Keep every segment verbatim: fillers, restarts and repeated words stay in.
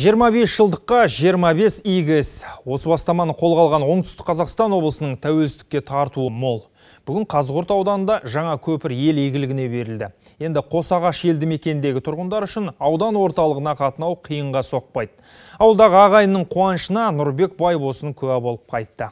жиырма бес жылдыққа жиырма бес игі іс. Осы бастаманы қолға алған Оңтүстік Қазақстан облысының тәуелсіздікке тартуы мол. Бүгін Қазығұрт ауданында жаңа көпір ел игілігіне берілді. Енді Қосағаш елді мекендегі тұрғындар үшін аудан орталығына қатынау қиынға соқпайды. Ауылдағы ағайынның қуанышына Нұрбек Байбосын куә болып қайтты.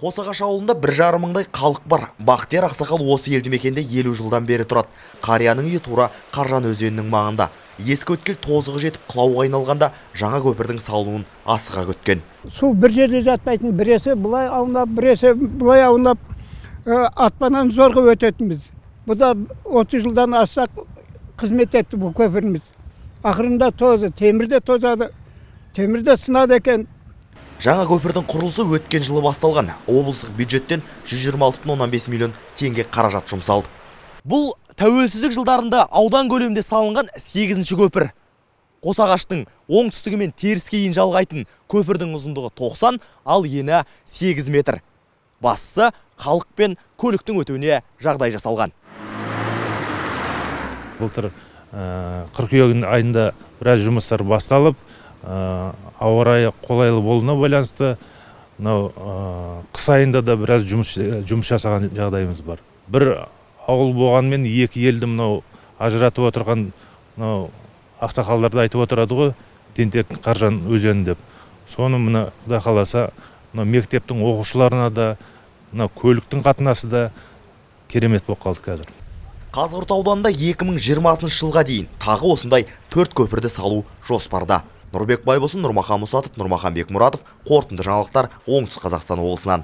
Қосағаш ауылында бір жарым мыңдай халық бар. Бақтияр ақсақал осы елді мекенде елу жылдан бері тұрады. Қарияның үйі тура Қаржан өзенінің маңында. Ескі өткел тозығы жетіп құлауға айналғанда жаңа көпірдің салынуын асыға күткен. Су бір жерде жатпайтын, біресе былай аунап, біресе былай аунап, атпанан зорға өтетінбіз. Бұл да отыз жылдан асақ қызмет етті бұл көпіріміз. Ақырында тозы, темірде тозады, темірде сынады екен. Жаңа көпірдің құрылысы өткен жылы басталған. Облыстық бюджеттен жүз жиырма алты бүтін оннан бес миллион теңге қаражат жұмсалды. Бұл тәуелсіздік жылдарында аудан көлемінде салынған сегізінші көпір. Қосағаштың оңтүстігі мен теріскейін жалғайтын көпірдің ұзындығы тоқсан, ал ені сегіз метр. Бастысы халық пен көліктің өтуіне жағдай жасалған. Былтыр қыркүйек айында біраз жұмыстар басталып, ауа райы қолайлы болуына байланысты қыс айында да біраз жұмыс жасаған жағдайымыз бар. Бір ауыл болғанмен екі елді мынау ажыратып отырған ақсақалдарды айтып отырады ғой, Тентек Қаржан өзені деп. Соны мына Құдай қаласа мектептің оқушыларына да, көліктің қатынасы да керемет болып қалды қазір. Қазығұрт ауданында екі мың жиырмасыншы жылға дейін тағы осындай төрт көпірді салу жоспарда. Нұрбек Байбосын, Нұрмахан Мұсатов, Нұрмахан Бекмұратов, қорытынды жаңалықтар Оңтүстік Қазақстан облысынан.